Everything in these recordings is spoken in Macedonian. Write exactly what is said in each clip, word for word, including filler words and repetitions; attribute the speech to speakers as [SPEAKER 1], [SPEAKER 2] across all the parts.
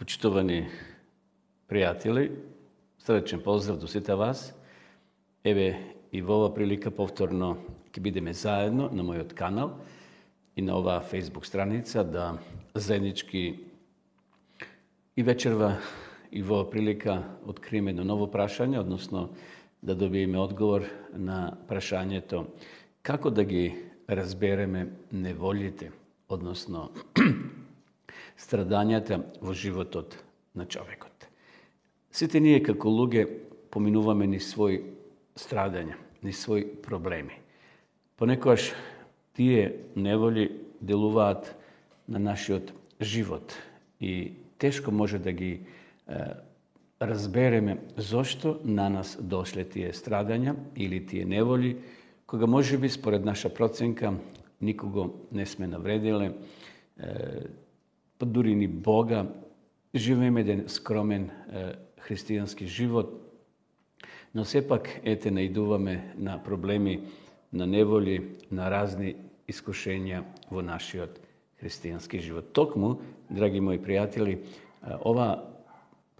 [SPEAKER 1] Почитувани пријатели, срдечен поздрав до сите вас. Еве и во ова прилика повторно ќе бидеме заедно на мојот канал и на оваа Facebook страница да заеднички и вечерва и во ова прилика откриеме едно ново прашање, односно да добиеме одговор на прашањето како да ги разбереме неволите, односно страдањата во животот на човекот. Сите ние како луѓе поминуваме ни своји страдања, ни своји проблеми. Понекогаш тие неволи делуваат на нашиот живот и тешко може да ги е, разбереме зошто на нас дошле тие страдања или тие неволи, кога можеби според наша проценка никого не сме навредиле, е, па дури ни Бога, живееме еден скромен е, христијански живот, но сепак ете наидуваме на проблеми, на неволи, на разни искушенија во нашиот христијански живот. Токму, драги мои пријатели, ова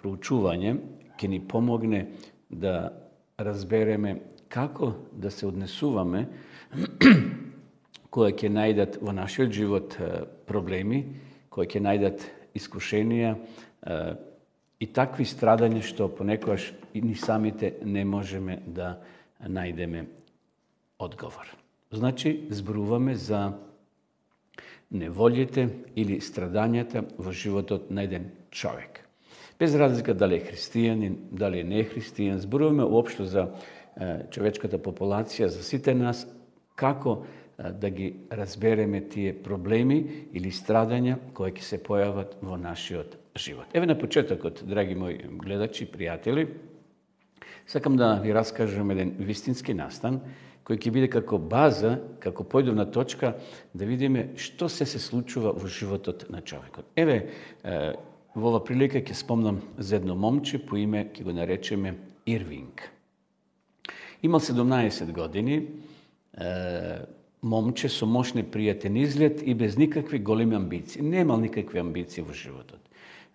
[SPEAKER 1] проучување ќе ни помогне да разбереме како да се однесуваме кои ќе најдат во нашиот живот проблеми, кои ќе најдат искушенија и такви страдања што понекогаш и ни самите не можеме да најдеме одговор. Значи, зборуваме за неволите или страдањата во животот на еден човек. Без разлика дали е христијанин, дали е не христијан, зборуваме уопшто за човечката популација, за сите нас, како да ги разбереме тие проблеми или страдања кои ќе се појават во нашиот живот. Еве на почетокот, драги мои гледачи, пријатели, сакам да ви раскажам еден вистински настан, кој ќе биде како база, како појдовна точка, да видиме што се се случува во животот на човекот. Еве, во ова прилика ќе спомнам за едно момче по име, ќе го наречеме Ирвинг. Имал седумнаесет години, момче со мощни пријатен изглед и без никакви големи амбиции. Немал никакви амбиции во животот.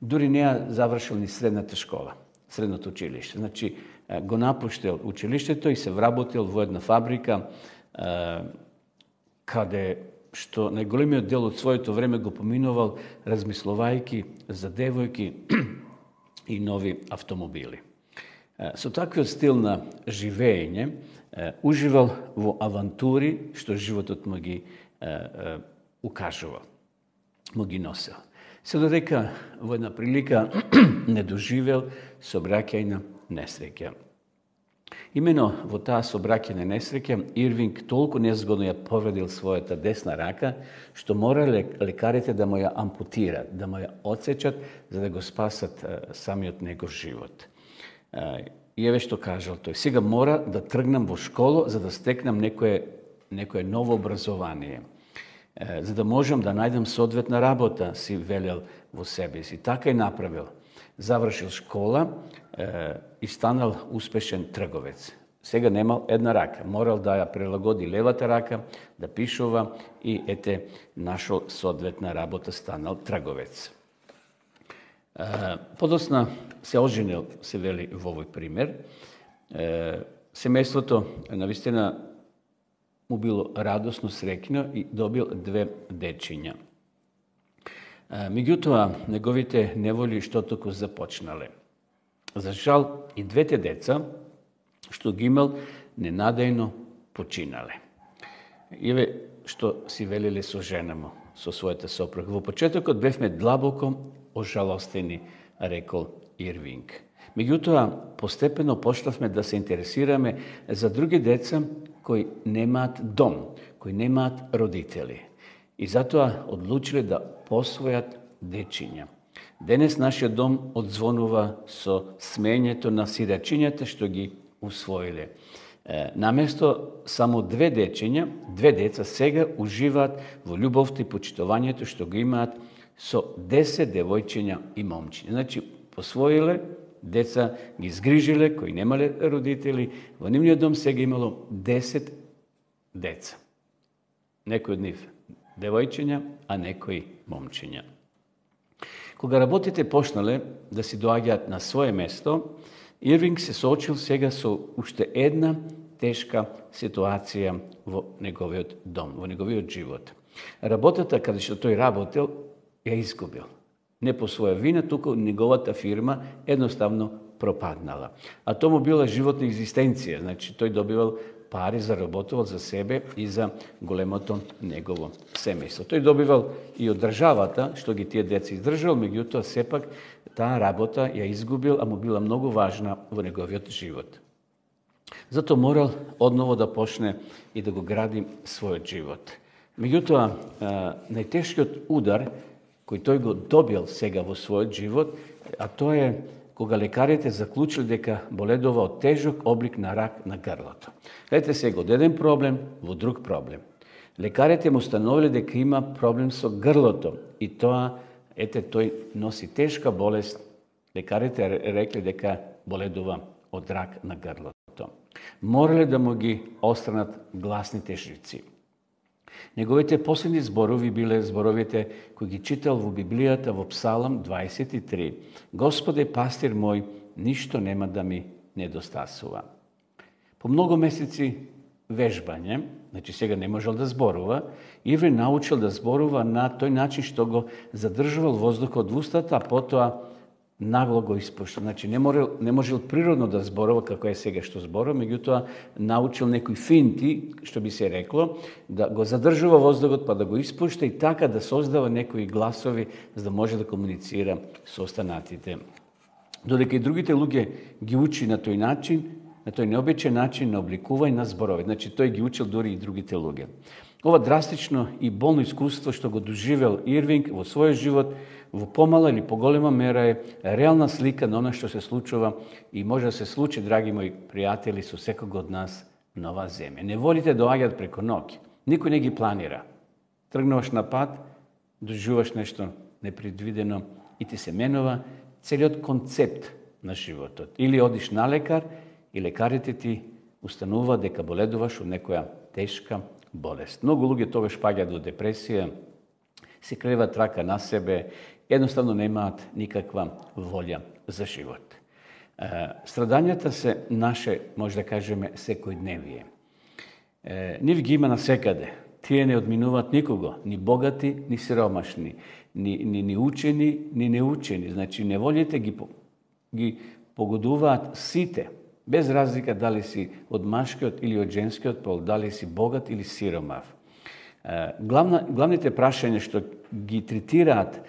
[SPEAKER 1] Дури не ја завршил ни средната школа, средното училиште. Значи, го напуштил училиштето и се вработил во една фабрика, каде што најголемиот дел од своето време го поминувал размислувајки за девојки и нови автомобили. Со таквиот стил на живење, уживал во авантури што животот му ги укажувал, му ги носел. Се додека во една прилика не доживел сообраќајна несреќа. Имено во таа сообраќајна несреќа Ирвинг толку незгодно ја повредил својата десна рака, што морале лекарите да му ја ампутират, да му ја отсечат за да го спасат самиот негов живот. И еве што кажал тој: сега мора да тргнам во школа за да стекнам некое, некое ново образование, за да можам да најдам соодветна работа, си велел во себе си. Така и направил. Завршил школа и станал успешен трговец. Сега немал една рака. Морал да ја прилагоди левата рака, да пишува и ете нашол соодветна работа, станал трговец. Подосна се оженил, се вели во овој пример. Семејството навистина му било радосно, среќно и добил две дечиња. Меѓутоа, неговите неволи што току започнале. За жал, и двете деца што ги имал ненадејно починале. Еве што си велеле со жена му, со својата сопруга. Во почетокот бевме длабоко ожалостени, рекол Ирвинг. Меѓутоа, постепено пошлавме да се интересираме за други деца кои немаат дом, кои немаат родители. И затоа одлучиле да посвојат дечиња. Денес нашиот дом одзвонува со смењето на сирачињата што ги усвоиле. Наместо само две дечиња, две деца сега уживаат во љубовта и почитувањето што го имаат со десет девојчиња и момчиња. Значи, посвоиле деца, ги згрижиле, кои немале родители, во нивниот дом сега имало десет деца. Некои од нив девојчиња, а некои момчиња. Кога работите почнале да си доаѓаат на свое место, Ирвинг се соочил сега со уште една тешка ситуација во неговиот дом, во неговиот живот. Работата каде што тој работел ја изгубил. Не по своја вина, туку неговата фирма едноставно пропаднала. А тоа му била животна екзистенција, значи тој добивал пари, заработувал за себе и за големото негово семејство. Тој добивал и од државата, што ги тие деца издржал, меѓутоа сепак таа работа ја изгубил, а му била многу важна во неговиот живот. Затоа морал одново да почне и да го гради својот живот. Меѓутоа, најтешкиот удар кој тој го добил сега во својот живот, а тоа е кога лекарите заклучили дека боледува од тежок облик на рак на грлото. Гледате сега, од еден проблем во друг проблем. Лекарите му установили дека има проблем со грлото и тоа, ете, тој носи тешка болест. Лекарите рекли дека боледува од рак на грлото. Морале да му ги остранат гласните жици. Неговите последни зборови биле зборовите кои ги читал во Библијата во Псалам дваесет и три. Господе, пастир мој, ништо нема да ми недостасува. По многу месеци вежбање, значи сега не можел да зборува, Ирвинг научил да зборува на тој начин што го задржувал воздухот во устата, а потоа нагло го испушта. Значи не можел, не можел природно да зборува како е сега што зборува, меѓутоа научил некои финти, што би се рекло, да го задржува воздухот па да го испушта и така да создава некои гласови за да може да комуницира со останатите. Додека и другите луѓе ги учи на тој начин, на тој необичаен начин на обликување на зборови. Значи тој ги учил дури и другите луѓе. Ова драстично и болно искуство што го доживел Ирвинг во својот живот, во помала или поголема мера е реална слика на она што се случува и може да се случи, драги мои пријатели, со секого од нас на оваа земја. Неволите доаѓаат преко ноќ. Никој не ги планира. Тргнуваш на пат, доживуваш нешто непредвидено и ти се менува целиот концепт на животот. Или одиш на лекар и лекарите ти установуваат дека боледуваш од некоја тешка болест. Многу луѓе тогаш паѓаат во депресија, се креват рака на себе, едноставно немаат никаква волја за живот. Страдањата се наше, може да кажеме, секојдневие. Нив ги има насекаде. Тие не одминуваат никого, ни богати, ни сиромашни, ни, ни, ни учени, ни неучени. Значи, неволите ги, ги погодуваат сите, без разлика дали си од машкиот или од женскиот пол, дали си богат или сиромав. Главна, главните прашања што ги третираат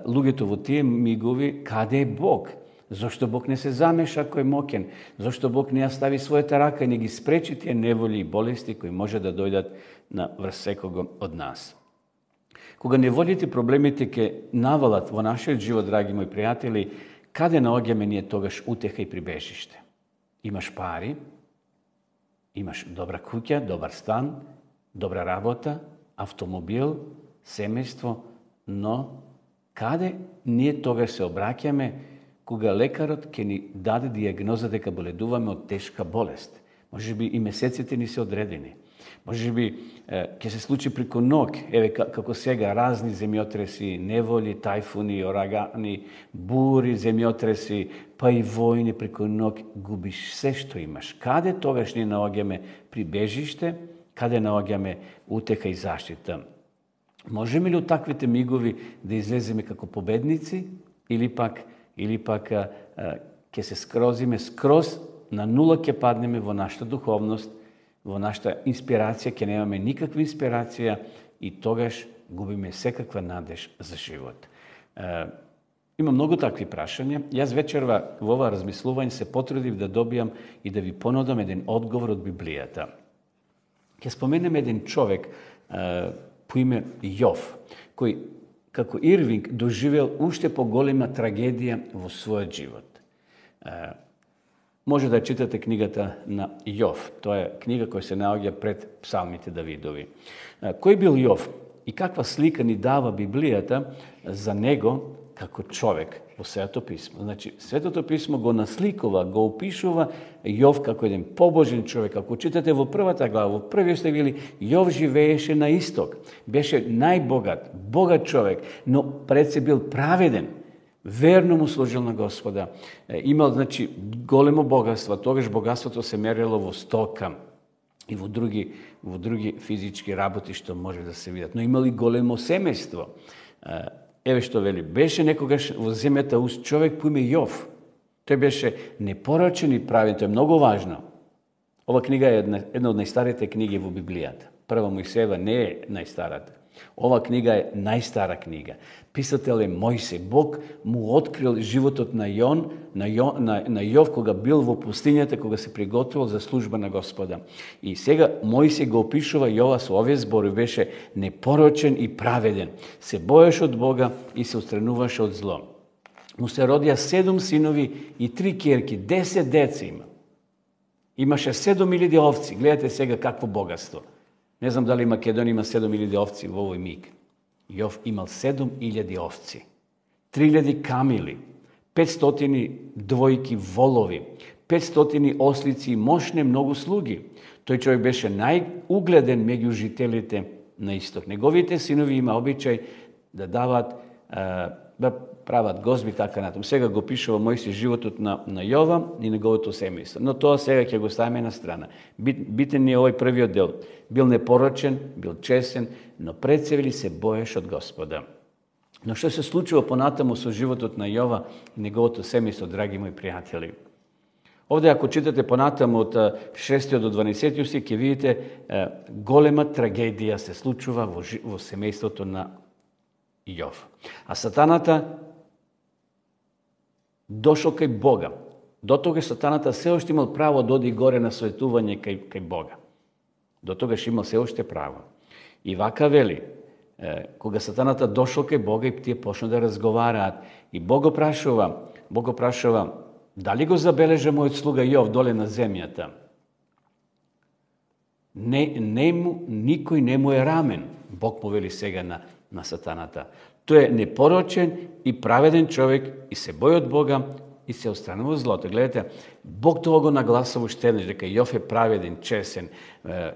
[SPEAKER 1] луѓето во тие мигови, каде е Бог? Зошто Бог не се замеша кој е моќен? Зошто Бог не ја стави својата рака и не ги спречи тие неволи и болести кои може да дојдат на врз секого од нас? Кога неволите и проблемите ќе навалат во нашиот живот, драги мои пријатели, каде наоѓаме ние тогаш утеха и прибежиште? Имаш пари, имаш добра куќа, добар стан, добра работа, автомобил, семејство, но каде ние тогаш се обраќаме кога лекарот ќе ни даде диагноза дека боледуваме од тешка болест? Може би и месеците ни се одредени. Може би ќе се случи преку ноќ, еве како сега, разни земјотреси, неволи, тајфуни, урагани, бури, земјотреси, па и војни преку ноќ, губиш се што имаш. Каде тогаш ние наоѓаме прибежиште, каде наоѓаме утеха и заштита? Можеме ли од таквите мигови да излеземе како победници или пак или пак а, а, ќе се скрозиме скроз на нула, ќе паднеме во нашата духовност, во нашата инспирација, ќе немаме никаква инспирација и тогаш губиме секаква надеж за живот. А, има многу такви прашања. Јас вечерва во ова размислување се потрудив да добијам и да ви понудам еден одговор од Библијата. Ќе споменем еден човек а, по име Јов, кој како Ирвинг доживел уште поголема трагедија во својот живот. А, може да читате книгата на Јов. Тоа е книга која се наоѓа пред псалмите Давидови. А, кој бил Јов и каква слика ни дава Библијата за него како човек во Светото писмо? Значи, Светото писмо го насликува, го опишува Јов како еден побожен човек. Ако читате во првата глава, во првиот стих вели, Јов живееше на исток. Беше најбогат, богат човек, но пред се бил праведен. Верно му служил на Господа. Имал, значи, големо богатство. Тогаш богатството се мерило во стока и во други, во други физички работи што може да се видат. Но имали големо семејство. Еве што вели, беше некогаш во земјата уз човек по име Јов. Тој беше непорочен и правен, тоа е многу важно. Ова книга е една, една од најстарите книги во Библијата. Прва Мојсеева не е најстарата. Ова книга е најстара книга. Писател е Мојсей. Бог му открил животот на Јон, на, Јон, на, на Јов, кога бил во пустињата, кога се приготвил за служба на Господа. И сега Мојсей го опишува Јова со овие зборови, беше непорочен и праведен. Се боеше од Бога и се устрануваше од зло. Му се родија седум синови и три ќерки, десет деца има. Имаше седум илјади овци. Гледате сега какво богатство. Не знам дали Македонија има седум илјади овци во овој миг. Јов имал седум илјади овци, три илјади камили, петстотини двојки волови, петстотини ослици и мощне многу слуги. Тој човек беше најугледен меѓу жителите на исток. Неговите синови има обичај да дават, да прават гозби, така натаму. Сега го пишува Мојсей животот на, на Јова и неговото семејство. Но тоа сега ќе го ставиме на страна. Бит, битен е овој првиот дел. Бил непорочен, бил чесен, но пред се вели се боеше од Господа. Но што се случува понатаму со животот на Јова и неговото семејство, драги мои пријатели? Овде, ако читате понатаму од шестиот до дванаесеттиот стих, ќе видите е, голема трагедија се случува во, во семејството на Јов. А сатаната дошол кај Бога. До тогаш сатаната се уште имал право да оди горе на советување кај, кај Бога. До тогаш имал се уште право. И вака вели, е, кога сатаната дошол кај Бога и тие почна да разговараат, и Бог го прашува, Бог го прашува, дали го забележа мојот слуга Јов доле на земјата? Не, не му, никој не му е рамен. Бог му вели сега на, на сатаната. Тој е непорочен и праведен човек и се бои од Бога и се отстранува злото. Гледате, Бог тоа го нагласува уште еднаш, дека Јов е праведен, чесен,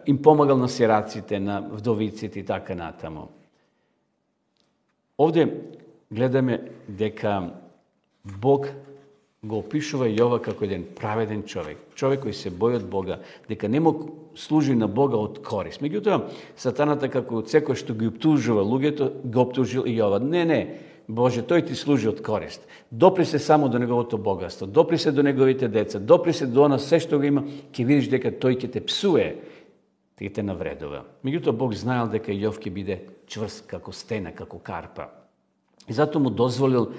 [SPEAKER 1] им помагал на сираците, на вдовиците и така натаму. Овде гледаме дека Бог го опишува Јова како еден праведен човек, човек кој се бои од Бога, дека не му служи на Бога од корист. Меѓутоа, сатаната како од секој што ги оптужува луѓето, го оптужил и Јова. Не, не, Боже, тој ти служи од корист. Допри се само до неговото богатство, допри се до неговите деца, допри се до она се што го има, ќе видиш дека тој ќе те псуе, ќе те навредува. Меѓутоа, Бог знаел дека Јов ќе биде чврст како стена, како карпа. И затоа му дозволил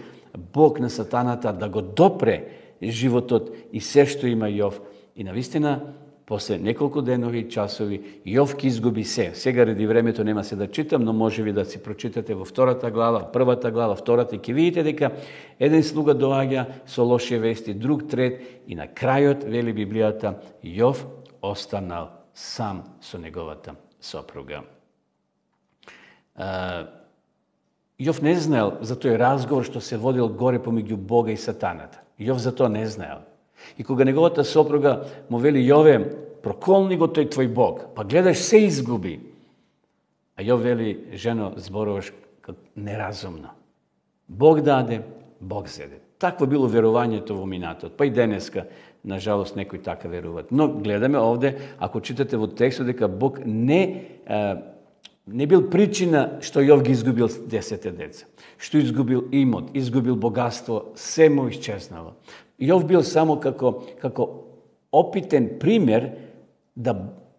[SPEAKER 1] Бог на сатаната да го допре животот и се што има Јов. И навистина, после неколку денови и часови, Јов ќе изгуби се. Сега ради времето нема се да читам, но може ви да си прочитате во втората глава, првата глава, втората, и ќе видите дека еден слуга доаѓа со лоши вести, друг трет, и на крајот, вели Библијата, Јов останал сам со неговата сопруга. Јов не знаел за тој разговор што се водил горе помеѓу Бога и сатаната. Јов за тоа не знаел. И кога неговата сопруга му вели, Јове, проколни го тој твој Бог, па гледаш се изгуби. А Јов вели, жено, зборуваш неразумно. Бог даде, Бог зеде. Такво било верувањето во минатот. Па и денеска, на жалост, некои така веруваат. Но гледаме овде, ако читате во текстот, дека Бог не... не бил причина што Јов ги изгубил десете деца, што изгубил имот, изгубил богатство, се му исчезнало. Јов бил само како, како опитен пример да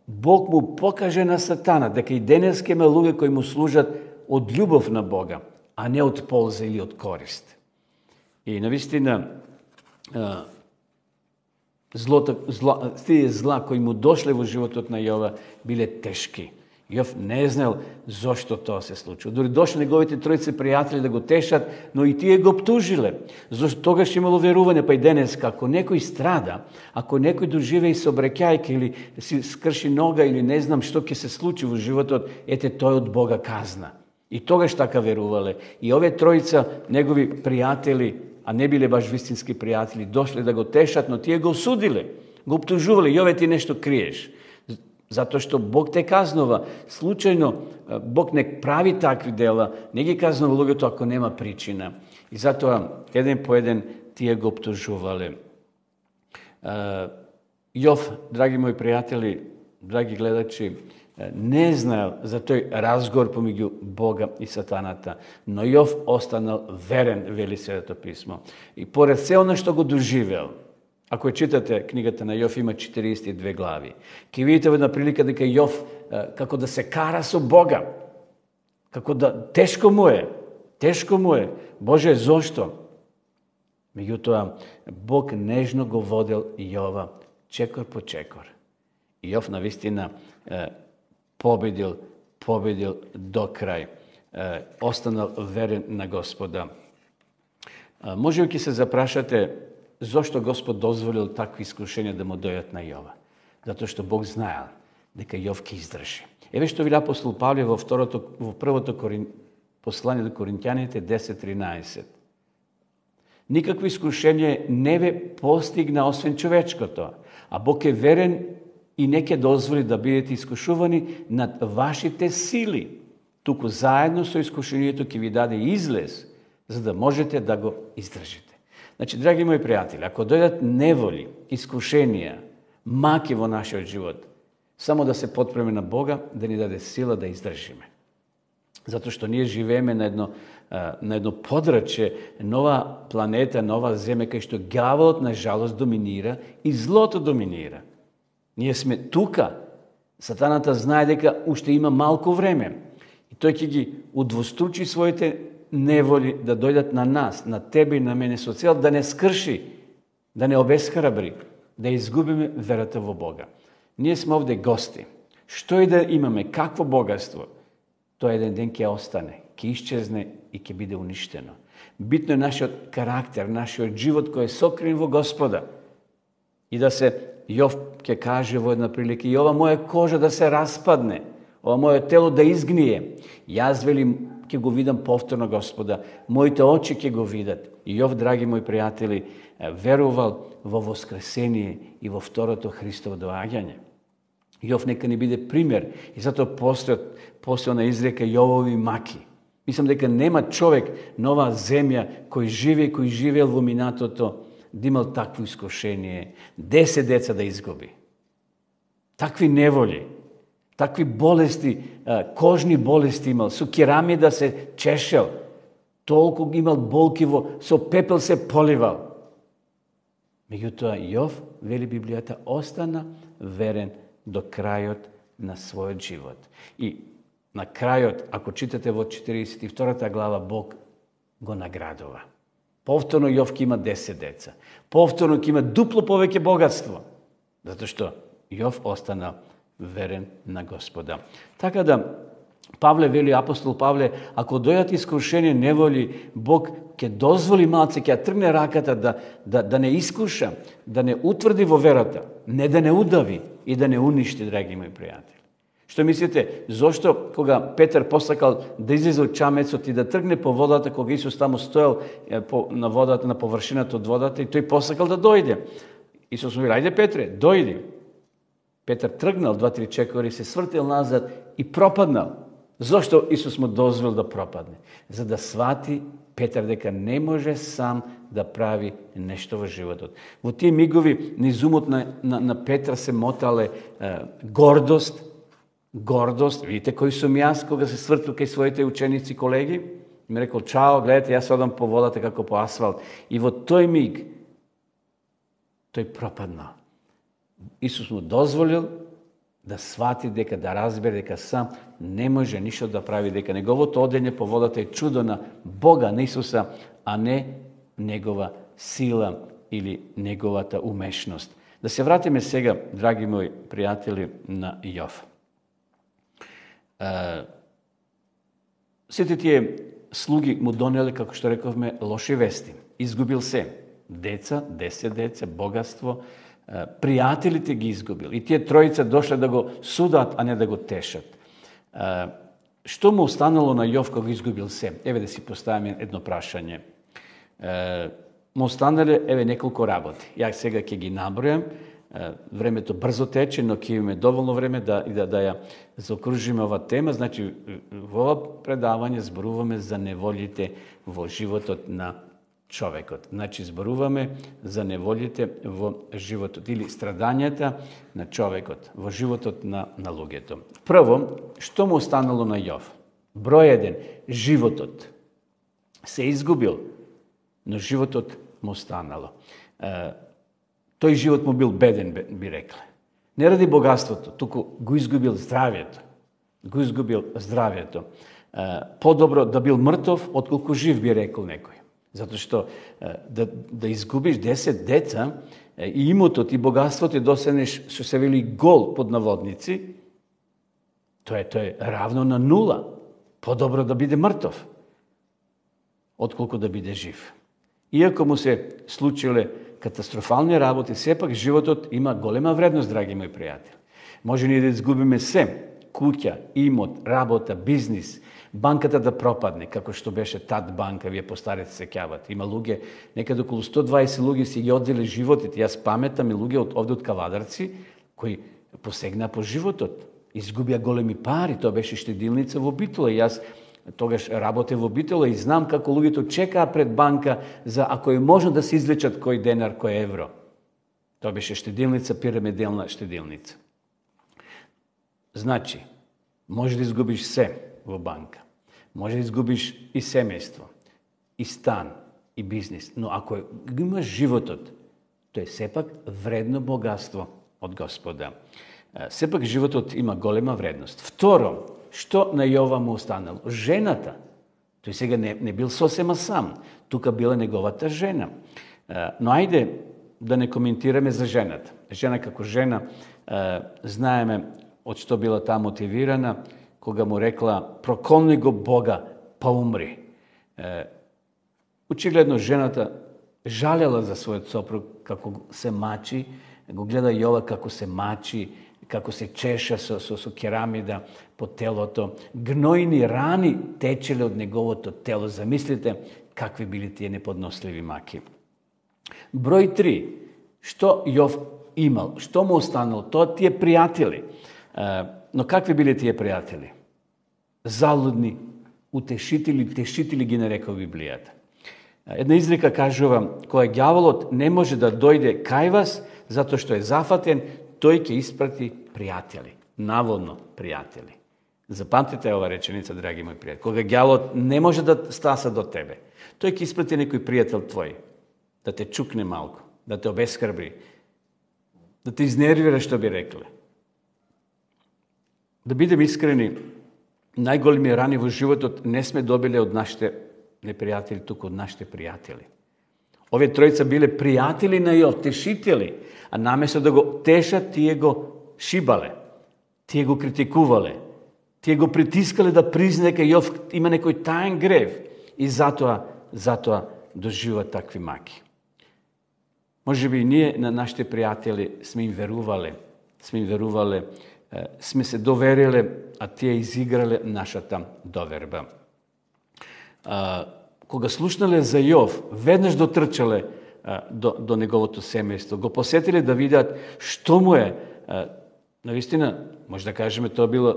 [SPEAKER 1] Бог му покаже на сатана дека и денеска има луѓе кои му служат од љубов на Бога, а не од полза или од корист. И навистина злото, зла, тие зла кои му дошле во животот на Јова биле тешки. Јов не знаел зошто тоа се случило. Дори дошли неговите тројце пријатели да го тешат, но и тие го оптужиле. Зошто тогаш имало верување, па и денеска, ако некој страда, ако некој доживее собрекајка или си скрши нога или не знам што ќе се случи во животот, ете тој од Бога казна. И тогаш така верувале. И овие тројца негови пријатели, а не биле баш вистински пријатели, дошле да го тешат, но тие го осудиле, го оптужувале. Јове, ти нешто криеш. Затоа што Бог те казнува. Случајно Бог не прави такви дела, не ги казнува луѓето ако нема причина. И затоа, еден по еден, тие го обтужувале. Јов, драги мои пријатели, драги гледачи, не знаел за тој разговор помеѓу Бога и сатаната, но Јов останал верен, вели Светото писмо. И поред се оно што го доживел, ако ја читате книгата на Јов, има четириесет и две глави, ќе видите една прилика дека Јов како да се кара со Бога, како да тешко му е, тешко му е. Боже, зошто? Меѓутоа, Бог нежно го водел Јова чекор по чекор. И Јов навистина победил, победил до крај. Останал верен на Господа. Може би ќе се запрашате зошто Господ дозволил такви искушенија да му дојдат на Јова. Затоа што Бог знаел дека Јов ќе издржи. Еве што вели апостол Павле во второто во првото Корин... послание до Коринќаните десет тринаесет. Никакво искушение не ве постигна освен човечкото, а Бог е верен и не ќе дозволи да бидете искушувани над вашите сили. Туку заедно со искушението ќе ви даде излез, за да можете да го издржите. Значи, драги мои пријатели, ако дојдат неволи, искушенија, маки во нашиот живот, само да се потпреме на Бога, да ни даде сила да издржиме. Затоа што ние живееме на едно, на едно подрачје, нова планета, нова земја, кај што ѓаволот, на жалост, доминира и злото доминира. Ние сме тука. Сатаната знае дека уште има малку време. И тој ќе ги удвостручи своите неволи да дојдат на нас, на тебе и на мене, со цел да не скрши, да не обесхрабри, да изгубиме верата во Бога. Ние сме овде гости. Што и да имаме, какво богатство, тоа еден ден ќе остане, ќе исчезне и ќе биде уништено. Битно е нашиот карактер, нашиот живот кој е сокрен во Господа. И да се, Јов ќе каже во една прилика, и ова моја кожа да се распадне, ова моје тело да изгние. Јас, велим, ќе го видам повторно Господа, моите очи ќе го видат. И Јов, драги мои пријатели, верувал во воскресение и во второто Христово доаѓање. Јов нека ни биде пример и затоа постојат постоја на изрека Јовови маки. Мислам дека нема човек на оваа земја кој живе и кој живеел во минатото да имал такво искушение, десет деца да изгуби. Такви неволи, такви болести, кожни болести имал, со керамида се чешел, толку имал болки во, со пепел се поливал. Меѓутоа Јов, вели Библијата, остана верен до крајот на својот живот. И на крајот, ако читате во четириесет и втората глава, Бог го наградува. Повторно Јов ќе има десет деца. Повторно ќе има дупло повеќе богатство. Затоа што Јов остана верен на Господа. Така да, Павле вели, апостол Павле, ако дојдат искушение, неволи, Бог ќе дозволи малце, ќе тргне раката да, да, да не искуша, да не утврди во верата, не да не удави и да не уништи, драги мои пријатели. Што мислите, зошто кога Петар посакал да излезе од чамецот и да тргне по водата, кога Исус таму стоел на водата, на површината од водата, и тој посакал да дојде. Исус му вели, ајде Петре, дојди. Петар тргнал два-три чекори, се свртел назад и пропаднал. Зошто Исус му дозволил да пропадне? За да свати Петар дека не може сам да прави нешто во животот. Во тие мигови низ умот на, на, на Петра се мотале е, гордост, гордост. Видите кој сум јас кога се свртил кај своите ученици, колеги? Ми рекол, чао, гледате, јас одам по водата како по асфалт. И во тој миг тој пропаднал. Исус му дозволил да свати дека, да разбере дека сам не може ништо да прави, дека неговото одење по водата е чудо на Бога, на Исуса, а не негова сила или неговата умешност. Да се вратиме сега, драги мои пријатели, на Јов. Сите тие слуги му донеле, како што рековме, лоши вести. Изгубил се. Деца, десет деца, богатство, пријателите ги изгубил. И тие тројица дошле да го судат, а не да го тешат. Што му останало на Јов кога изгубил се? Еве да си поставиме едно прашање. Му останале, еве, неколку работи. Ја сега ќе ги набројам, времето брзо тече, но ќе имаме доволно време да и да, да ја заокружиме ова тема. Значи, во ова предавање зборуваме за неволите во животот на човекот. Значи, зборуваме за неволите во животот или страдањата на човекот во животот на, на луѓето. Прво, што му останало на Јов? Број еден, животот се изгубил, но животот му останало. Тој живот му бил беден, би рекле. Не ради богатството, туку го изгубил здравјето. Го изгубил здравјето. Подобро да бил мртов, отколку жив, би рекол некој. Затоа што да, да изгубиш десет деца и имотот и богатството и досегнеш, што се вели гол под наводници, тоа е, тоа е равно на нула. Подобро да биде мртов, отколку да биде жив. Иако му се случиле катастрофални работи, сепак животот има голема вредност, драги мои пријатели. Може ни да изгубиме се, куќа, имот, работа, бизнис, банката да пропадне, како што беше тад банка, вие постарите се сеќавате. Има луѓе, некаде околу сто дваесет луѓе си ги одзели животите. Јас паметам и луѓе од овде од Кавадарци, кои посегнаа по животот. Изгубија големи пари, тоа беше штедилница во Битола. Јас тогаш работев во Битола и знам како луѓето чекаа пред банка за ако е можно да се извлечат кој денар, кој евро. Тоа беше штедилница, пирамиделна штедилница. Значи, може да изгубиш се во банка, може да изгубиш и семејство, и стан, и бизнис, но ако имаш животот, тоа е сепак вредно богатство од Господа. Сепак животот има голема вредност. Второ, што на Јова му останало? Жената. Тој сега не, не бил сосема сам. Тука била неговата жена. Но ајде да не коментираме за жената. Жена како жена, знаеме од што била таа мотивирана, кога му рекла проколни го Бога, па умри. Очигледно жената жалела за својот сопруг како се мачи, го гледа Јова како се мачи, како се чеша со, со, со керамида по телото. Гнојни рани течеле од неговото тело. Замислите какви били тие неподносливи маки. Број три. Што Јов имал? Што му останало? Тоа тие пријатели. Но какви били тие пријатели? Залудни, утешители, тешители ги нарекува Библијата. Една изрека кажува, кога ѓаволот не може да дојде кај вас, затоа што е зафатен, тој ќе испрати пријатели. Наводно пријатели. Запамтите ова реченица, драги мои пријатели. Кога ѓаволот не може да стаса до тебе, тој ќе испрати некој пријател твој, да те чукне малку, да те обескрбри, да те изнервира, што би рекле. Да бидем искрени, најголеми рани во животот не сме добиле од нашите непријатели, туку од нашите пријатели. Овие тројца биле пријатели на Јов, тешители, а наместо да го тешат, тие го шибале, тие го критикувале, тие го притискале да призне дека Јов има некој таен грев и затоа, затоа доживува такви маки. Може би и ние на нашите пријатели сме им верувале, сме им верувале, сме се довериле, а тие изиграле нашата доверба. А, кога слушнале за Јов, веднаш дотрчале а, до, до неговото семејство, го посетиле да видат што му е. А, навистина, може да кажеме, тоа било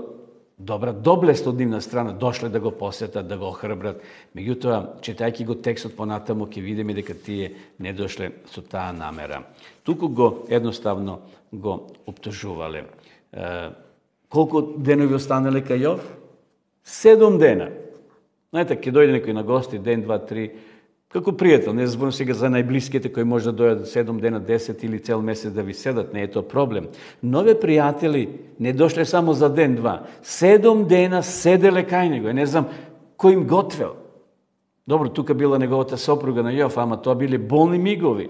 [SPEAKER 1] добра доблест од нивна страна, дошле да го посетат, да го охрабрат. Меѓутоа, читајќи го текстот понатаму, ќе видиме дека тие не дошле со таа намера. Туку го едноставно го оптужувале. Колку денови останале кај Јов? Седум дена. Знаете, ќе дојде некој на гости, ден, два, три, како пријател, не зборам сега за најблиските кои може да дојдат седум дена, десет или цел месец да ви седат, не е тоа проблем. Нови пријатели не дошле само за ден, два. Седум дена седеле кај него. Не знам кој им готвел. Добро, тука била неговата сопруга на Јов, ама тоа биле болни мигови.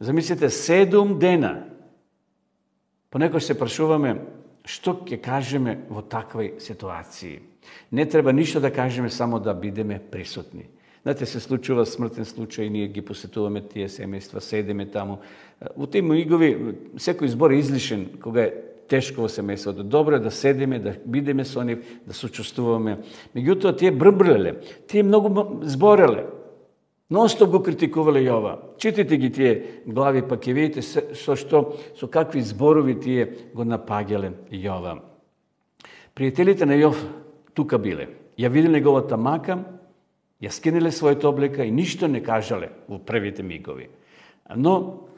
[SPEAKER 1] Замислите, седум дена. Понекој се прашуваме што ќе кажеме во такви ситуации. Не треба ништо да кажеме, само да бидеме присутни. Знаете, се случува смртен случај, ние ги посетуваме тие семејства, седеме таму. Во тие мигови, секој збор е излишен, кога е тешко во семејството. Добро е да седеме, да бидеме со нив, да сочувствуваме. Меѓутоа, тие брбреле, тие многу збореле. Носто го критикувале Јова. Читайте ги тие глави, па ќе видите со што, со какви зборови тие го напаѓале Јова. Пријателите на Јов тука биле. Ја виделе неговата мака, ја скинеле својата облека и ништо не кажале во првите мигови. Но,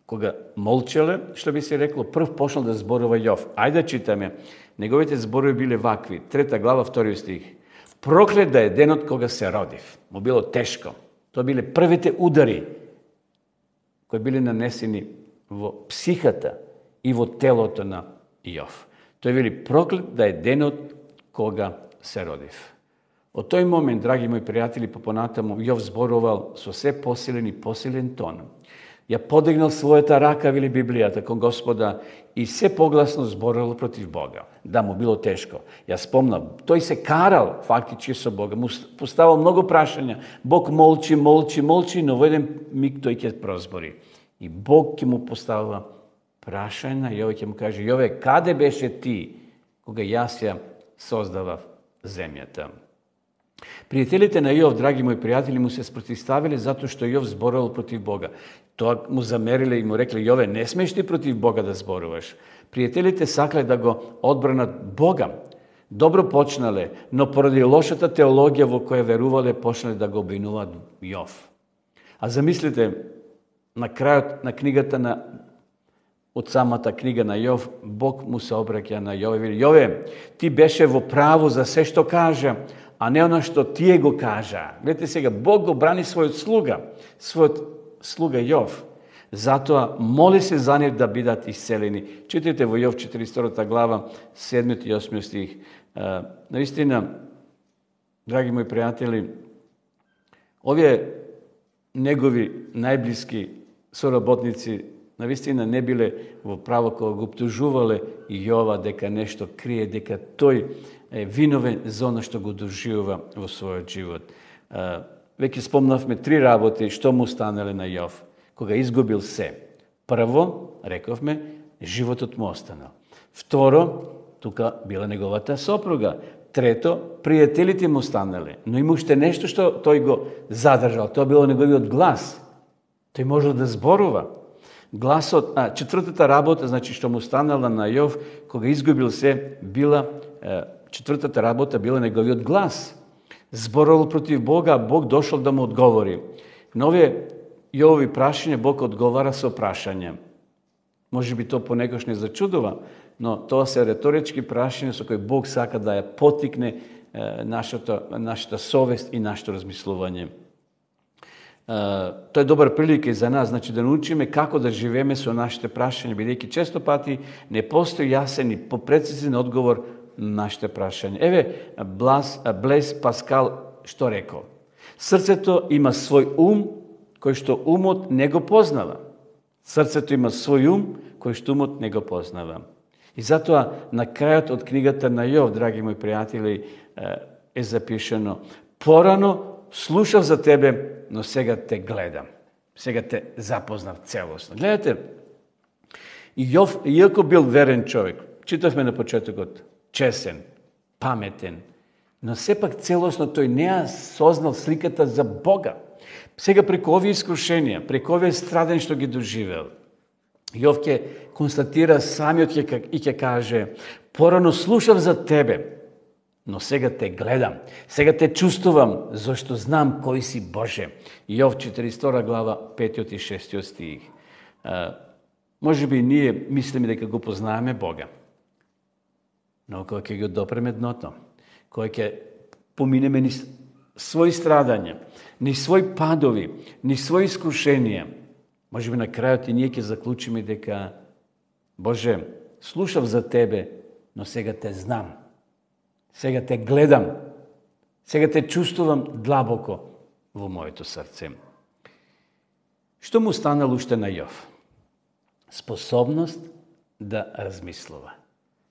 [SPEAKER 1] кога молчеле, што би се рекло, прв почнал да зборува Јов. Ајде да читаме. Неговите зборови биле вакви. Трета глава, вториот стих. Проклет да е денот кога се родив. Му било тешко. Тоа биле првите удари кои биле нанесени во психата и во телото на Јов. Тој вели проклет да е денот кога се родив. Од тој момент, драги мои пријатели, па понатаму Јов зборувал со се посилен и посилен тон. Ја подигнал својата рака, вели Библијата, кон Господа и се погласно зборувал против Бога. Да, му било тешко. Ја спомнам, тој се карал фактички со Бога, му поставал многу прашања. Бог молчи, молчи, молчи, но во еден миг тој ќе прозбори. И Бог ќе му поставува прашања и Јове ќе му каже: Јове, каде беше ти кога јас ја создавав земјата? Пријателите на Јов, драги мои пријатели, му се спротивставиле затоа што Јов зборувал против Бога. Тоа му замериле и му рекле: Јове, не смееш ти против Бога да зборуваш. Пријателите сакле да го одбранат Бога. Добро почнале, но поради лошата теологија во која верувале, почнале да го обвинуваат Јов. А замислите, на крајот на книгата на од самата книга на Јов, Бог му се обраќа на Јове и вели: Јове, ти беше во право за се што кажа, а не оно што тие го кажа. Гледате сега, Бог го брани својот слуга, својот слуга Јов. Затоа моли се за нив да бидат исцелени. Читайте во Јов четиридесет и втора глава, седмиот и осмиот стих. Наистина, драги мои пријатели, овие негови најблиски соработници навистина не биле во право кога го оптужувале и Јова дека нешто крие, дека тој е виновен за оно што го доживува во својот живот. Веќе спомнавме три работи што му станале на Јов кога изгубил се. Прво, рековме, животот му останал. Второ, тука била неговата сопруга. Трето, пријателите му станале, но има уште нешто што тој го задржал. Тоа било неговиот глас. Тој можел да зборува. Гласот, а, четвртата работа, значи што му станала на Јов, кога изгубил се, била, е, четвртата работа била неговиот глас. Зборувал против Бога, Бог дошол да му одговори. На овие Јовови прашања Бог одговара со прашање. Може би тоа понекогаш не зачудува, но тоа се реторички прашања со кои Бог сака да ја потикне е, нашата, нашата совест и нашето размислување. Тоа е добар прилика и за нас, значи да научиме како да живееме со нашите прашања, бидејќи често пати не постои јасен и попрецизен одговор на нашите прашања. Еве, Блас, Блес Паскал што рекол? Срцето има свој ум, кој што умот не го познава. Срцето има свој ум, кој што умот не го познава. И затоа на крајот од книгата на Јов, драги мои пријатели, е запишено: порано слушав за тебе, но сега те гледам. Сега те запознав целосно. Гледате, Јов, иако бил верен човек, читавме на почетокот, чесен, паметен, но сепак целосно тој не ја сознал сликата за Бога. Сега преку овие искушенија, преку овие страден што ги доживел, Јов ќе констатира самиот и ќе каже: порано слушав за тебе, но сега те гледам, сега те чувствувам, зашто знам кој си Боже. Јов четиридесет и втора глава, петиот и шестиот стих. А, може би ние мислиме дека го познаваме Бога, но кога ќе го допреме дното, кога ќе поминеме ни своји страдања, ни своји падови, ни своји искушенија, може би на крајот и ние ќе заклучиме дека: Боже, слушав за тебе, но сега те знам. Сега те гледам. Сега те чувствувам длабоко во моето срце. Што му станало уште на Јов? Способност да размислува.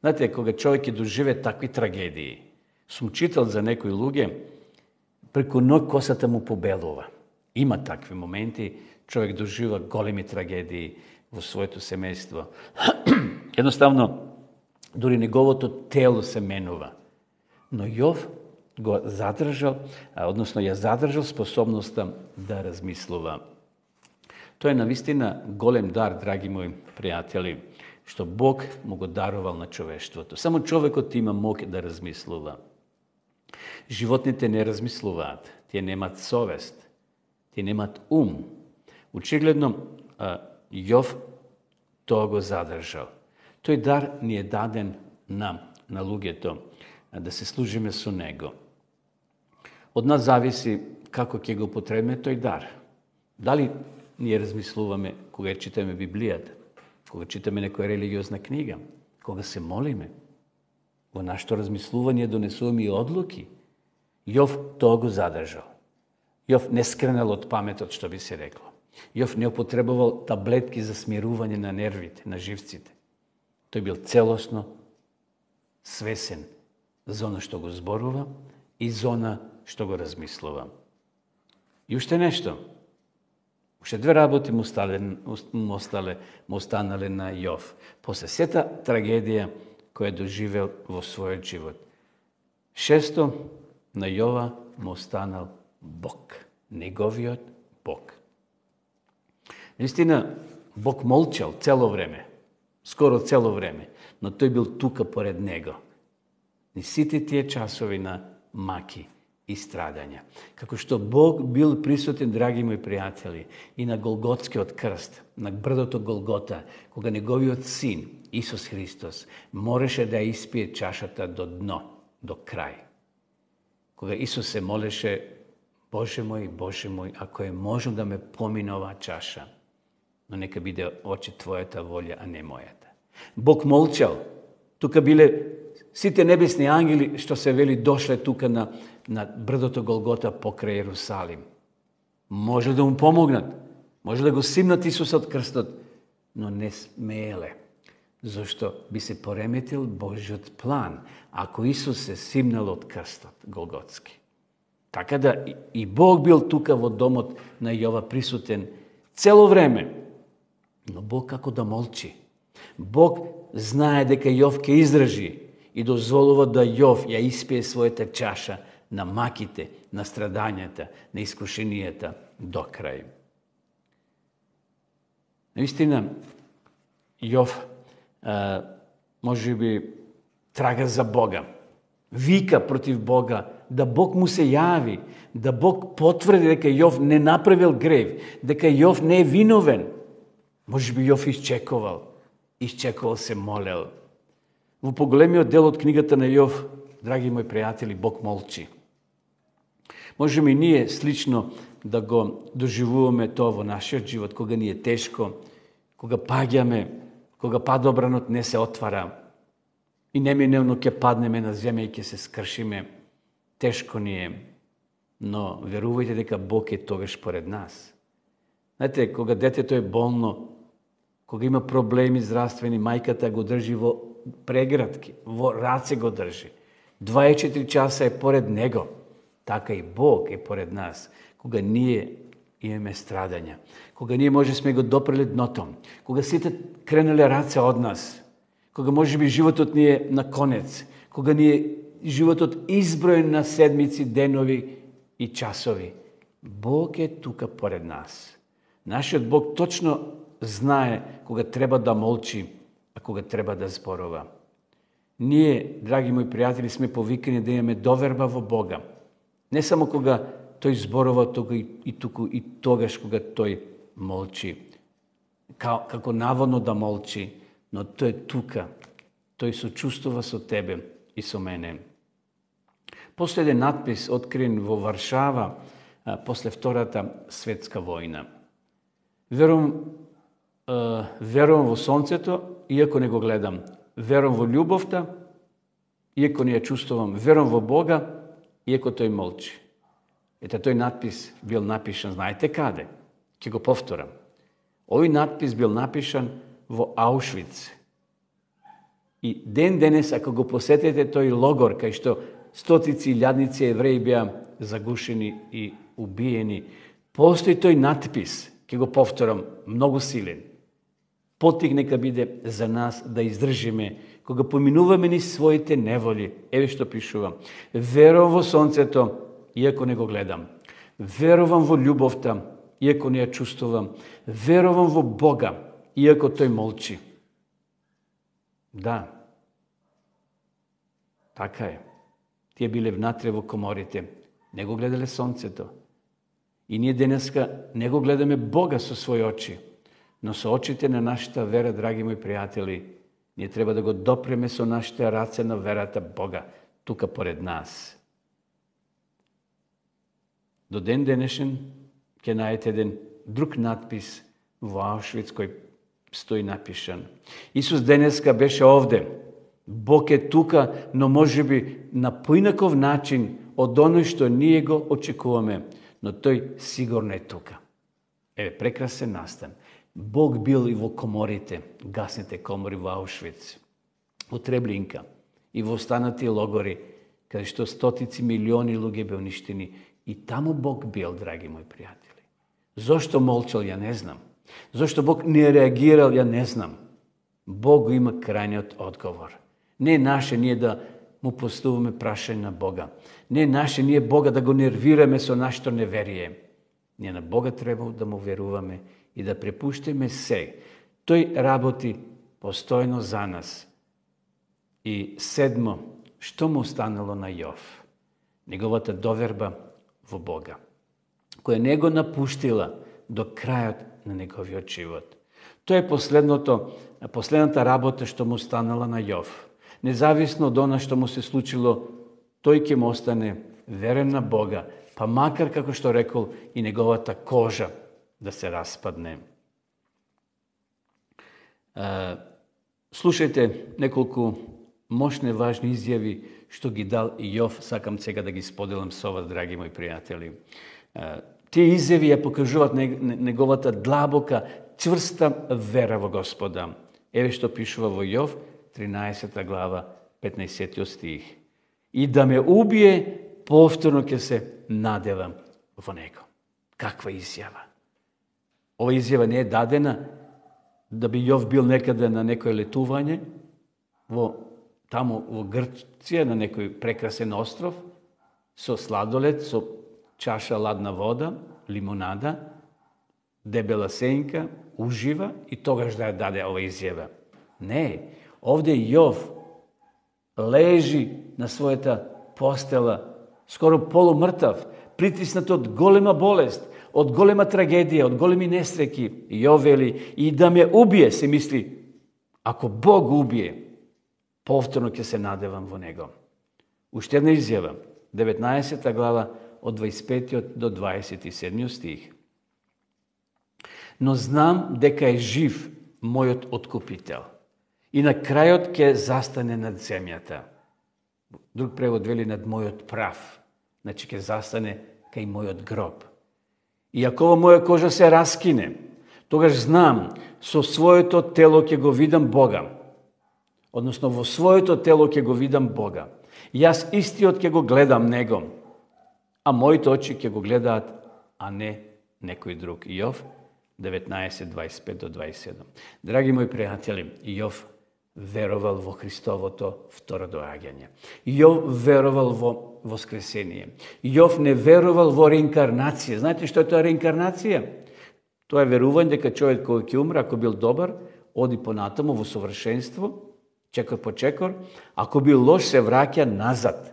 [SPEAKER 1] Знаете, кога човек ќе доживе такви трагедии, сум читал за некои луѓе, преку ноќ косата му побелува. Има такви моменти, човек дожива големи трагедии во своето семејство. Едноставно, дури неговото тело се менува. Но Јов го задржал, односно ја задржал способноста да размислува. Тоа е навистина голем дар, драги мои пријатели, што Бог му го дарувал на човештвото. Само човекот има мог да размислува. Животните не размислуваат, тие немаат совест, тие немаат ум. Очигледно, Јов тоа го задржал. Тој дар ни е даден нам, на луѓето, да се служиме со него. Од нас зависи како ќе го потребиме тој дар. Дали ние размислуваме кога читаме Библијата, кога читаме некоја религиозна книга, кога се молиме. Во нашето размислување донесуваме и одлуки. Јов тоа го задржал. Јов не скренал од паметот, што би се рекло. Јов не употребувал таблетки за смирување на нервите, на живците. Тој бил целосно свесен за она што го зборува и за она што го размислува. И уште нешто. Уште две работи му остале, му остале, му останале на Јов. После сета трагедија која доживел во својот живот. Шесто, на Јова му останал Бог. Неговиот Бог. Наистина, Бог молчал цело време. Скоро цело време. Но тој бил тука поред него. И сите тие часови на маки и страдања. Како што Бог бил присутен, драги мои пријатели, и на Голготскиот крст, на брдото Голгота, кога неговиот син, Исус Христос, мореше да ја испие чашата до дно, до крај. Кога Исус се молеше: Боже мој, Боже мој, ако е можно да ме помине оваа чаша, но нека биде очи Твојата волја, а не мојата. Бог молчал. Тука биле сите небесни ангели, што се вели, дошле тука на, на брдото Голгота покрај Ерусалим. Може да му помогнат, може да го симнат Исуса од крстот, но не смееле, зашто би се пореметил Божиот план, ако Исус се симнал од крстот Голготски. Така да и Бог бил тука во домот на Јова присутен цело време, но Бог како да молчи. Бог знае дека Јов ќе издржи и дозволува да Јов ја испие својата чаша на маките, на страдањата, на искушенијата до крај. Наистина, Јов а, може би трага за Бога, вика против Бога, да Бог му се јави, да Бог потврди дека Јов не направил грев, дека Јов не е виновен. Може би Јов изчекувал, изчекувал се молел. Во поголемиот дел од книгата на Јов, драги мои пријатели, Бог молчи. Можеме и ние слично да го доживуваме тоа во нашиот живот, кога ни е тешко, кога паѓаме, кога падобранот не се отвара и неминевно ќе паднеме на земја и ќе се скршиме. Тешко ни е, но верувајте дека Бог е тогаш поред нас. Знаете, кога детето е болно, кога има проблеми здравствени, мајката го држи во прегратки, во раце го држи. дваесет и четири часа е поред него. Така и Бог е поред нас. Кога ние имаме страдања, кога ние може сме го допрели дното, кога сите кренале раце од нас, кога може би животот ни е на конец, кога ни е животот изброен на седмици, денови и часови. Бог е тука поред нас. Нашиот Бог точно знае кога треба да молчи, а кога треба да зборува. Ние, драги мои пријатели, сме повикани да имаме доверба во Бога. Не само кога тој зборува, тога и, и туку и тогаш кога тој молчи. Ка, како наводно да молчи, но тој е тука. Тој сочувствува со тебе и со мене. После еден надпис открин во Варшава а, после Втората светска војна. Верувам, а, верувам во сонцето, иако не го гледам. Верувам во љубовта, иако не ја чувствувам. Верувам во Бога, иако тој молчи. Ете, тој надпис бил напишан, знаете каде? Ќе го повторам. Овој надпис бил напишан во Аушвиц. И ден денес, ако го посетите тој логор, кај што стотици илјадници евреи беа загушени и убиени, постои тој надпис, ќе го повторам, многу силен. потик нека биде за нас да издржиме, кога поминуваме ни своите неволи. Еве што пишува. Верувам во сонцето, иако не го гледам. Верувам во љубовта, иако не ја чувствувам. Верувам во Бога, иако тој молчи. Да, така е. Тие биле внатре во коморите, не го гледале сонцето. И ние денеска не го гледаме Бога со своји очи, но со очите на нашата вера, драги мои пријатели, ние треба да го допреме со нашите раце на верата Бога, тука поред нас. До ден денешен ќе најдете еден друг надпис во Аушвиц кој стои напишан. Исус денеска беше овде. Бог е тука, но може би на поинаков начин од оној што ние го очекуваме, но тој сигурно е тука. Еве, прекрасен настан. Бог бил и во коморите, гасните комори во Аушвиц, во Треблинка и во останати логори, каде што стотици милиони луѓе бе уништени. И таму Бог бил, драги мои пријатели. Зошто молчал, ја не знам. Зошто Бог не реагирал, ја не знам. Бог има крајниот одговор. Не е наше ние да му поставуваме прашање на Бога. Не е наше ние Бога да го нервираме со нашето неверие. Ние на Бога треба да му веруваме и да препуштиме се. Тој работи постојно за нас. И седмо, што му останало на Јов? Неговата доверба во Бога, која не го напуштила до крајот на неговиот живот. Тоа е последното, последната работа што му останала на Јов. Независно од она што му се случило, тој ќе му остане верен на Бога, па макар, како што рекол, и неговата кожа да се распадне. Слушајте неколку мощни, важни изјави што ги дал Јов, сакам сега да ги споделам со вас, драги мои пријатели. Тие изјави ја покажуваат неговата длабока, чврста вера во Господа. Еве што пишува во Јов, тринаесета глава, петнаесеттиот стих. И да ме убие, повторно ќе се надевам во него. Каква изјава? Ова изјава не е дадена да би Јов бил некаде на некој летување, во, таму во Грција, на некој прекрасен остров, со сладолед, со чаша ладна вода, лимонада, дебела сенка, ужива и тогаш да ја даде ова изјава. Не, овде Јов лежи на својата постела, скоро полумртав, притиснат од голема болест, од голема трагедија, од големи несреки. Јов вели, и да ме убие, се мисли, ако Бог убие, повторно ќе се надевам во него. Уште една изјава, деветнаесета глава, од дваесет и петиот до дваесет и седмиот стих. Но знам дека е жив мојот откупител и на крајот ќе застане над земјата. Друг превод вели над мојот прав, значи ќе застане кај мојот гроб. И ако ова моја кожа се раскине, тогаш знам, со своето тело ќе го видам Бога. Односно, во своето тело ќе го видам Бога. Јас истиот ќе го гледам Него, а моите очи ќе го гледаат, а не некој друг. Јов деветнаесет, дваесет и пет до дваесет и седум. Драги мои пријатели, Јов веровал во Христовото второ доаѓање. Јов веровал во воскресение. Јов не веровал во реинкарнација. Знаете што е тоа реинкарнација? Тоа е верување дека човек кој ќе умре, ако бил добар, оди понатаму во совршенство, чекор по чекор, ако бил лош, се враќа назад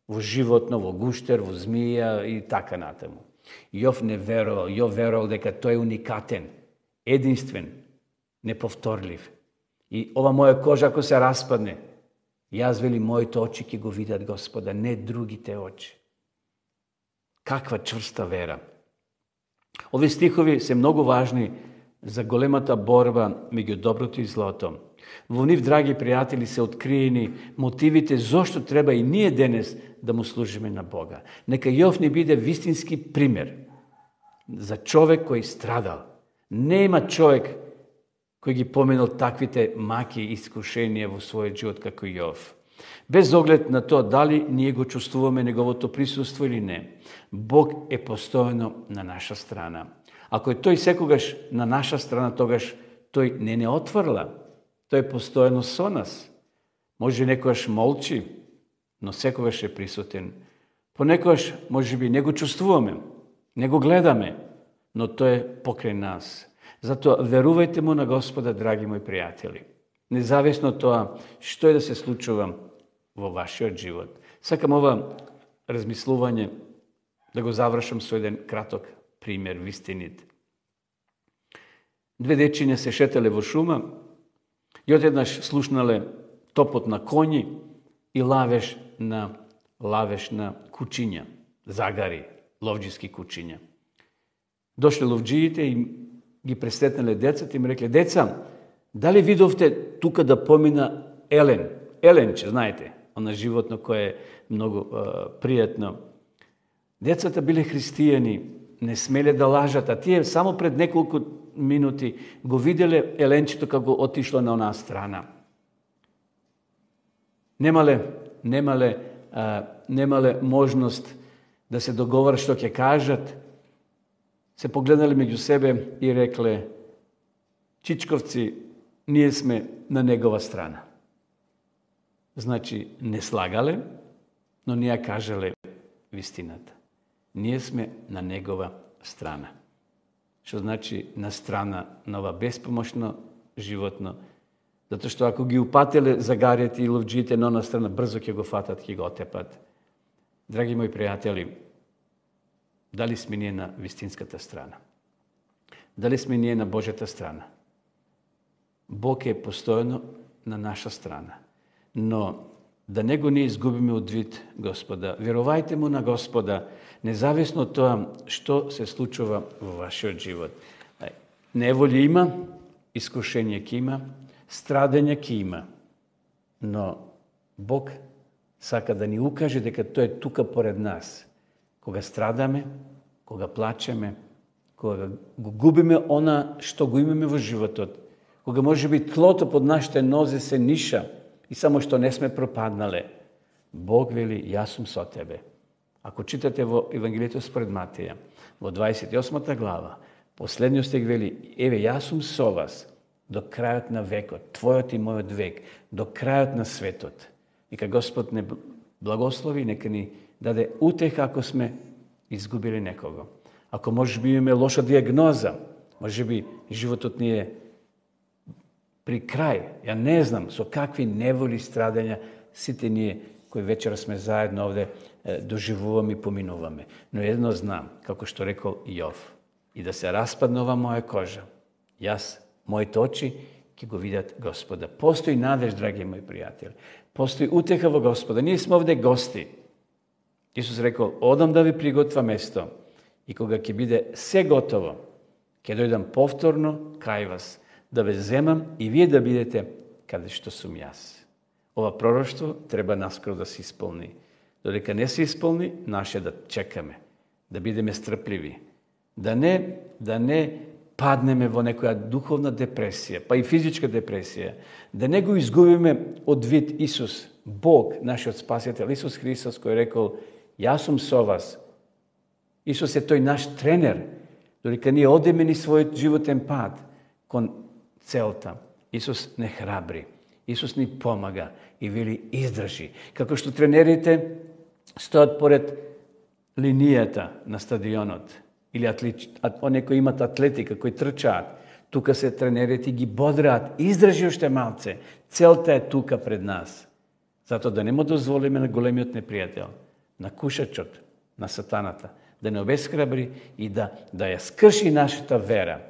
[SPEAKER 1] во животно, во гуштер, во змија и така натаму. Јов не верувал, Јов верувал дека тој е уникатен, единствен, неповторлив. И ова моја кожа ако се распадне, јас вели моите очи ќе го видат Господа, не другите очи. Каква чврста вера. Овие стихови се многу важни за големата борба меѓу доброто и злото. Во нив, драги пријатели, се откриени мотивите зошто треба и ние денес да му служиме на Бога. Нека Јов ни биде вистински пример за човек кој страдал. Нема човек кој ги поменал таквите маки и искушенија во својот живот како Јов. Без оглед на тоа дали ние го чувствуваме неговото присуство или не, Бог е постојано на наша страна. Ако е тој секогаш на наша страна, тогаш тој не не отврла, тој е постојано со нас. Може некојаш молчи, но секогаш е присутен. Понекогаш, може би, не го чувствуваме, не го гледаме, но тој е покрај нас. Затоа верувајте му на Господа, драги мои пријатели. Независно од тоа што е да се случува во вашиот живот. Сакам ова размислување да го завршам со еден краток пример, вистинит. Две дечиња се шетале во шума и одеднаш слушнале топот на коњи и лавеш на лавеш на кучиња, загари, ловџиски кучиња. Дошле ловџиите и ги пресретнале децата и им рекле: деца, дали видовте тука да помина елен? Еленче, знаете, она животно кое е многу е, пријатно. Децата биле христијани, не смеле да лажат, а тие само пред неколку минути го виделе еленчето како отишло на онаа страна. Немале, немале, а, немале можност да се договорат што ќе кажат. Се погледнале меѓу себе и рекле: чичковци, ние сме на негова страна. Значи, не слагале, но ние кажале вистината. Ние сме на негова страна. Што значи на страна на ова беспомошно животно. Затоа што ако ги упателе загарите и ловџиите на она страна, брзо ќе го фатат, ќе го отепат. Драги мои пријатели, дали сме ние на вистинската страна? Дали сме ние на Божјата страна? Бог е постојано на наша страна. Но да не го не изгубиме од вид Господа. Верувајте му на Господа, независно од тоа што се случува во вашиот живот. Неволја има, искушение ќе има, страдење ќе има, но Бог сака да ни укаже дека тој е тука поред нас. Кога страдаме, кога плачеме, кога го губиме она што го имаме во животот, кога може би тлото под нашите нозе се ниша и само што не сме пропаднале, Бог вели: јас сум со тебе. Ако читате во Евангелието според Матеја, во дваесет и осма глава, последниот стих вели: еве, јас сум со вас до крајот на векот, твојот и мојот век, до крајот на светот. Нека Господ не благослови, нека ни даде утеха ако сме изгубили некого. Ако може би имаме лоша диагноза, може би животот ни е при крај, ја не знам со какви неволи, страдања сите ние кои вечера сме заедно овде доживуваме и поминуваме. Но едно знам, како што рекол Јов: и да се распадне ова моја кожа, јас, моите очи ќе го видат Господа. Постои надеж, драги мои пријатели. Постои утеха во Господа. Ние сме овде гости. Исус рекол: одам да ви приготвам место и кога ќе биде се готово, ќе дојдам повторно кај вас, да ве земам и вие да бидете каде што сум јас. Ова пророштво треба наскоро да се исполни. Додека не се исполни, наше да чекаме, да бидеме стрпливи, да не, да не паднеме во некоја духовна депресија, па и физичка депресија, да не го изгубиме од вид Исус, Бог, нашиот Спасител, Исус Христос, кој рекол: јас сум со вас. Исус е тој наш тренер, додека ние одеме ни својот животен пат кон целта. Исус не храбри, Исус ни помага и вели: издржи. Како што тренерите стојат поред линијата на стадионот, или атлет, оние кои имат атлетика, кои трчаат, тука се тренерите ги бодраат: издржи уште малце, целта е тука пред нас. Затоа да не му дозволиме на големиот непријател, на кушачот, на сатаната, да не обесхрабри и да, да ја скрши нашата вера,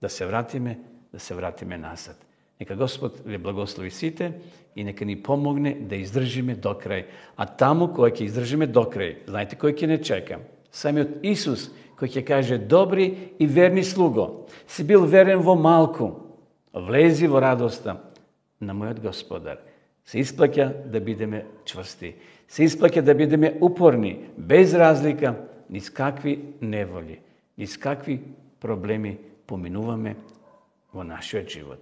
[SPEAKER 1] да се вратиме, да се вратиме назад. Нека Господ ве благослови сите и нека ни помогне да издржиме до крај. А таму кој ќе издржиме до крај, знаете кој ќе не чека? Самиот Исус, кој ќе каже: добри и верни слуго, си бил верен во малку, влези во радоста на мојот Господар. Се исплаќа да бидеме чврсти, се исплаќа да бидеме упорни, без разлика низ какви неволи, низ какви проблеми поминуваме во нашиот живот.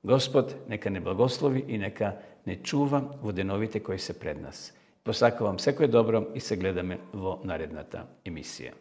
[SPEAKER 1] Господ нека не благослови и нека не чува во деновите кои се пред нас. Посакувам секој добро и се гледаме во наредната емисија.